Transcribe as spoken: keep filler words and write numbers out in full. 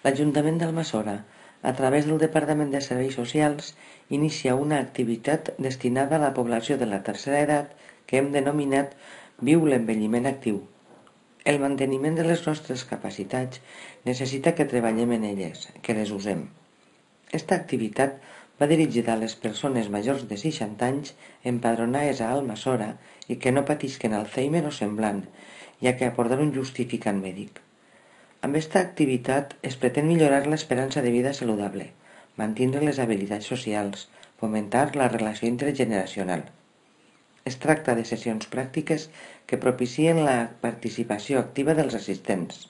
L'Ajuntament d'Almassora, a través del Departament de Serveis Socials, inicia una activitat destinada a la població de la tercera edat que hem denominat Viu l'envelliment actiu. El manteniment de les nostres capacitats necessita que treballem en elles, que les usem. Esta activitat va dirigida a les persones majors de seixanta anys empadronades a Almassora i que no patisquen Alzheimer o semblant, ja que aporten un justificant mèdic. Amb esta activitat es pretén millorar l'esperança de vida saludable, mantenir les habilitats socials, fomentar la relació intergeneracional. Es tracta de sessions pràctiques que propicien la participació activa dels assistents.